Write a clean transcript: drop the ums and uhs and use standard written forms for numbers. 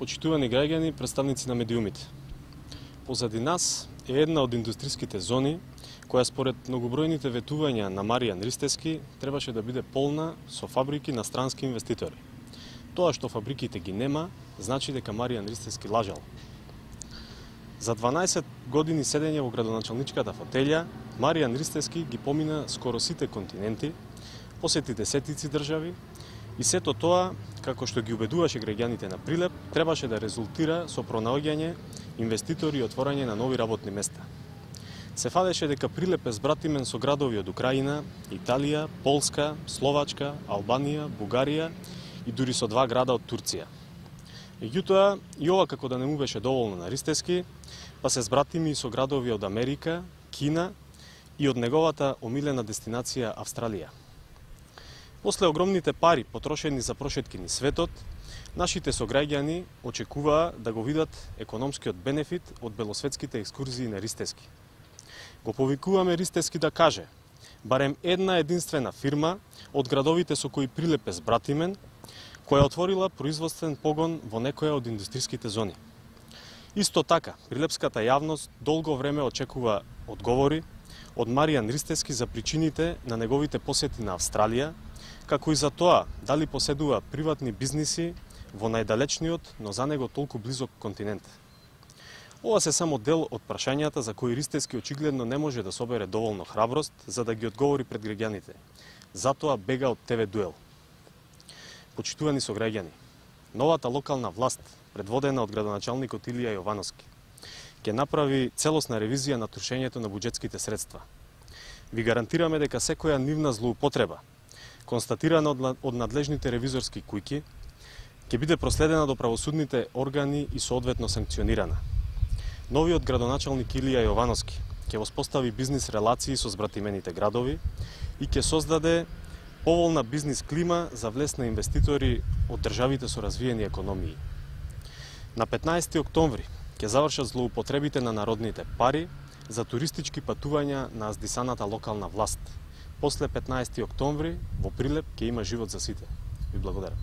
Почитувани граѓани, представници на медиумите. Позади нас е една од индустриските зони која според многобројните ветувања на Маријан Ристевски требаше да биде полна со фабрики на странски инвеститори. Тоа што фабриките ги нема, значи дека Маријан Ристевски лажал. За 12 години седење во градоначалничката фотелја, Маријан Ристевски ги помина скоро сите континенти, посети десетици држави и сето тоа, како што ги убедуваше граѓаните на Прилеп, требаше да резултира со пронаоѓање инвеститори и отворање на нови работни места. Се фадеше дека Прилеп е збратимен со градови од Украина, Италија, Полска, Словачка, Албанија, Бугарија и дури со 2 града од Турција. Меѓутоа, и ова како да не му беше доволно на Ристевски, па се збратими и со градови од Америка, Кина и од неговата омилена дестинација Австралија. После огромните пари потрошени за прошетки низ светот, нашите сограѓани очекуваа да го видат економскиот бенефит од белосветските екскурзии на Ристевски. Го повикуваме Ристевски да каже барем една единствена фирма од градовите со кои Прилеп е збратимен, која отворила производствен погон во некоја од индустриските зони. Исто така, прилепската јавност долго време очекува одговори од Маријан Ристевски за причините на неговите посети на Австралија, како и за тоа дали поседува приватни бизниси во најдалечниот, но за него толку близок континент. Ова се само дел од прашањата за кои Ристевски очигледно не може да собере доволно храброст за да ги одговори пред граѓаните. Затоа бега од ТВ дуел. Почитувани сограѓани, новата локална власт, предводена од градоначалникот Илија Јовановски, ќе направи целосна ревизија на трошењето на буџетските средства. Ви гарантираме дека секоја нивна злоупотреба, констатирана од надлежните ревизорски куќи, ќе биде проследена до правосудните органи и соодветно санкционирана. Новиот градоначалник Илија Јовановски ќе воспостави бизнис релации со збратимените градови и ќе создаде поволна бизнис клима за влез на инвеститори од државите со развиени економии. На 15 октомври ќе завршат злоупотребите на народните пари за туристички патувања на аздисаната локална власт. После 15 октомври во Прилеп ќе има живот за сите. Ви благодарам.